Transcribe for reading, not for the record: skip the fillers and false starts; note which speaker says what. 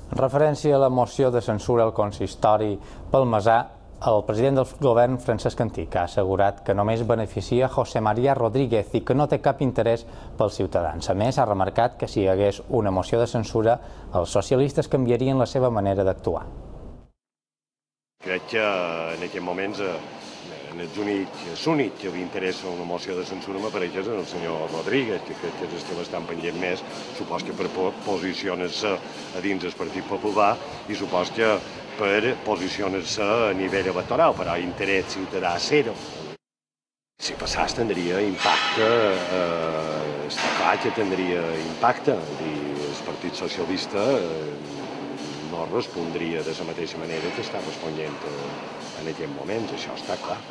Speaker 1: En referència a la moció de censura al consistori palmesà, el president del govern, Francesc Antich, ha assegurat que només beneficia José María Rodríguez i que no té cap interès pels ciutadans. A més, ha remarcat que si hi hagués una moció de censura, els socialistes canviarien la seva manera d'actuar.
Speaker 2: Crec que en aquests moments l'únic que li interessa una moció de censura m'apareix és el senyor Rodríguez, que crec que és el que bastant pendent més, supos que per posicionar-se a dins del Partit Popular i supos que per posicionar-se a nivell electoral, però interès ciutadà zero. Si passés tindria impacte, està clar que tindria impacte, i el Partit Socialista no respondria de la mateixa manera que està responent en aquest moment, això està clar.